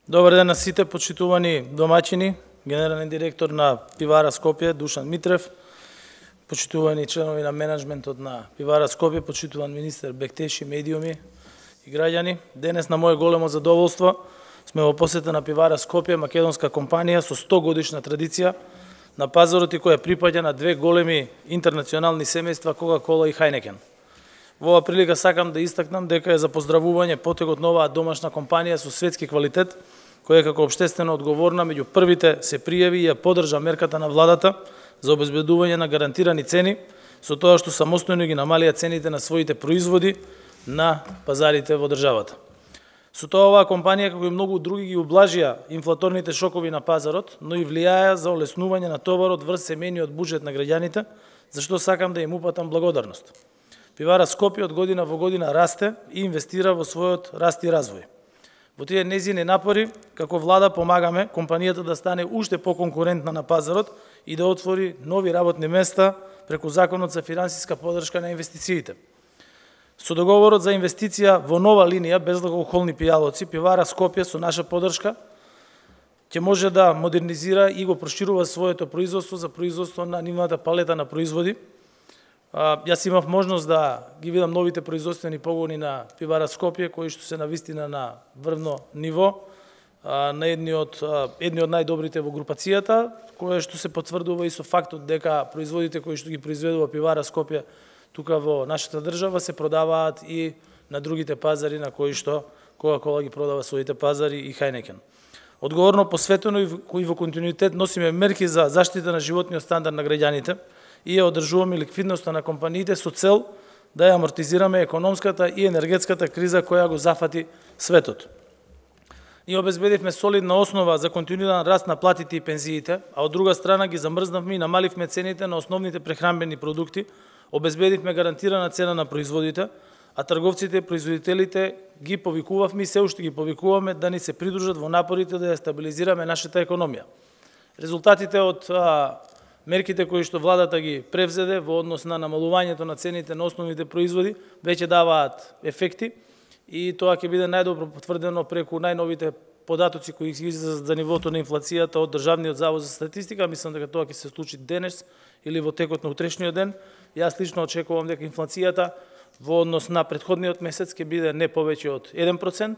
Добар ден на сите почитувани домаќини, генерален директор на Пивара Скопје Душан Митрев, почитувани членови на менеджментот на Пивара Скопје, почитуван министер Бектеши, медиуми и граѓани. Денес на мое големо задоволство сме во посета на Пивара Скопје, македонска компанија со 100 годишна традиција на пазарот и која припаѓа на две големи интернационални семејства Кока-Кола и Хајнекен. Во оваа прилика сакам да истакнам дека е за поздравување потегот на оваа домашна компанија со светски квалитет, која како општествено одговорна меѓу првите се пријави и ја поддржа мерката на владата за обезбедување на гарантирани цени, со тоа што самостојно ги намалија цените на своите производи на пазарите во државата. Со тоа оваа компанија, како и многу други, ги ублажија инфлаторните шокови на пазарот, но и влијаја за олеснување на товарот врз семејниот буџет на граѓаните, за што сакам да им упатам благодарност. Пивара Скопје од година во година расте и инвестира во својот раст и развој. Во тие незини напори, како влада, помагаме компанијата да стане уште поконкурентна на пазарот и да отвори нови работни места преку Законот за финансиска поддршка на инвестициите. Со договорот за инвестиција во нова линија безалкохолни пијалоци, Пивара Скопје со наша поддршка ќе може да модернизира и го проширува своето производство за производство на нивната палета на производи. Јас имав можност да ги видам новите производствени погони на Пивара Скопје, кои што се навистина на врвно ниво, на едни од најдобрите во групацијата, кое што се потврдува и со фактот дека производите кои што ги произведува Пивара Скопје тука во нашата држава се продаваат и на другите пазари на кои што Кока-Кола ги продава своите пазари и Хајнекен. Одговорно посветено и во континуитет носиме мерки за заштита на животниот стандард на граѓаните и ја одржуваме ликвидноста на компаниите со цел да ја амортизираме економската и енергетската криза која го зафати светот. Ние обезбедивме солидна основа за континуиран раст на платите и пензиите, а од друга страна ги замрзнавме и намаливме цените на основните прехранбени продукти, обезбедивме гарантирана цена на производите, а трговците и производителите ги повикувавме и се уште ги повикуваме да ни се придружат во напорите да ја стабилизираме нашата економија. Резултатите од мерките кои што владата ги превзеде во однос на намалувањето на цените на основните производи веќе даваат ефекти и тоа ќе биде најдобро потврдено преку најновите податоци кои излезат за нивото на инфлацијата од Државниот завод за статистика. Мислам дека тоа ќе се случи денес или во текот на утрешниот ден. Јас лично очекувам дека инфлацијата во однос на претходниот месец ќе биде не повеќе од 1%,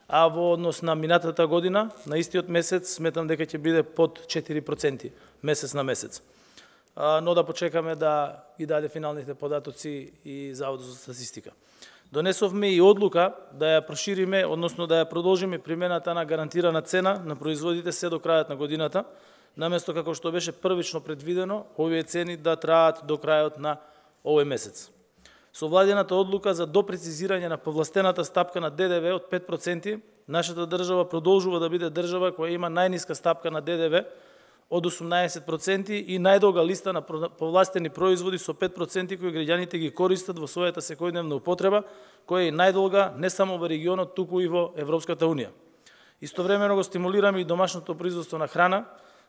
а во однос на минатата година, на истиот месец, сметам дека ќе биде под 4% месец на месец. Но да почекаме да ги даде финалните податоци и Заводот за статистика. Донесовме и одлука да ја прошириме, односно да ја продолжиме примената на гарантирана цена на производите се до крајот на годината, наместо како што беше првично предвидено, овие цени да траат до крајот на овој месец. Со владината одлука за допрецизирање на повластената стапка на ДДВ од 5%, нашата држава продолжува да биде држава која има најниска стапка на ДДВ од 18% и најдолга листа на повластени производи со 5% кои граѓаните ги користат во својата секојдневна употреба, која е најдолга не само во регионот, туку и во Европската унија. Истовремено го стимулираме и домашното производство на храна,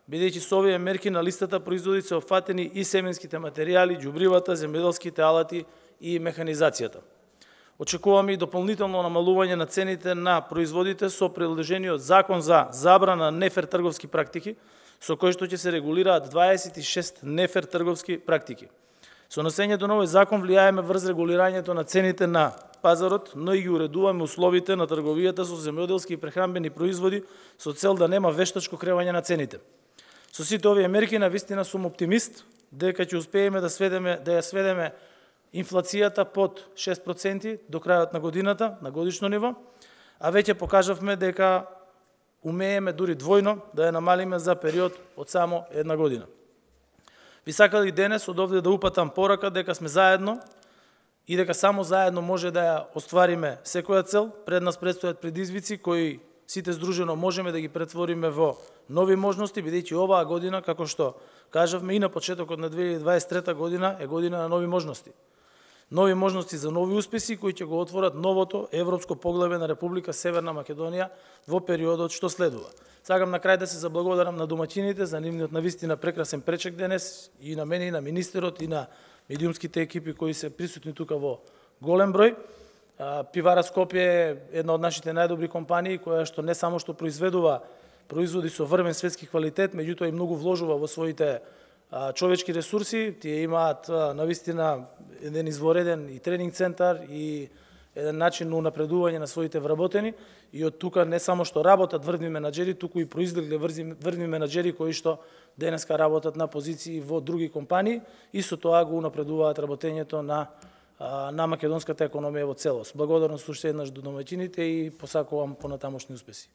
бидејќи со овие мерки на листата производи се опфатени и семенските материјали, џубривата, земјоделските алати и механизацијата. Очекуваме и дополнително намалување на цените на производите со приложениот Закон за забрана на нефер трговски практики, со кој што ќе се регулираат 26 нефер трговски практики. Со носењето на овој закон влијаеме врз регулирањето на цените на пазарот, но и ги уредуваме условите на трговијата со земјоделски и прехранбени производи со цел да нема вештачко кревање на цените. Со сите овие мерки навистина сум оптимист дека ќе успееме да ја сведеме инфлацијата под 6% до крајот на годината на годишно ниво, а веќе покажавме дека умееме дури двојно да ја намалиме за период од само една година. Би сакал и денес од овде да упатам порака дека сме заедно и дека само заедно може да ја оствариме секоја цел. Пред нас предстојат предизвици кои сите здружено можеме да ги претвориме во нови можности, бидејќи оваа година, како што кажавме и на почетокот на 2023 година, е година на нови можности. Нови можности за нови успеси кои ќе го отворат новото европско поглавје на Република Северна Македонија во периодот што следува. Сакам на крај да се заблагодарам на домаќините за нивниот навистина прекрасен пречек денес, и на мене, и на министерот, и на медиумските екипи кои се присутни тука во голем број. Пивара Скопје е една од нашите најдобри компании која што не само што производи со врвен светски квалитет, меѓутоа и многу вложува во своите човечки ресурси. Тие имаат навистина еден извореден и тренинг центар и еден начин на унапредување на своите вработени, и од тука не само што работат врвни менаџери, туку и произлегле врвни менаџери кои што денеска работат на позиции во други компании и со тоа го унапредуваат работењето на македонската економија во целост. Благодарност уште еднаш до домаќините и посакувам понатамошни успеси.